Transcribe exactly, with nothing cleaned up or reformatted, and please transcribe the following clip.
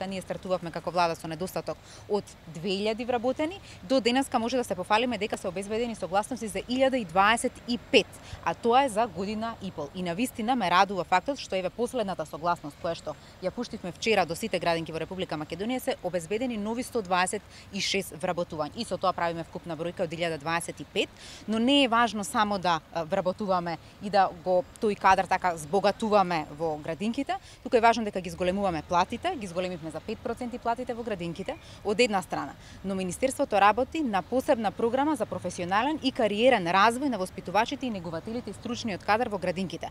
Ние стартувавме како влада со недостаток од две илјади вработени, до денеска може да се пофалиме дека се обезбедени согласности за илјада и дваесет и пет, а тоа е за година и пол. И навистина ме радува фактот што еве последната согласност која што ја пуштивме вчера до сите градинки во Република Македонија се обезбедени нови сто дваесет и шест вработувања. И со тоа правиме вкупна бројка од илјада дваесет и пет, но не е важно само да вработуваме и да го тој кадар така збогатуваме во градинките, туку е важно дека ги зголемуваме платите, ги зголемивме за пет проценти платите во градинките од една страна, но Министерството работи на посебна програма за професионален и кариерен развој на воспитувачите и негувателите и стручниот кадар во градинките.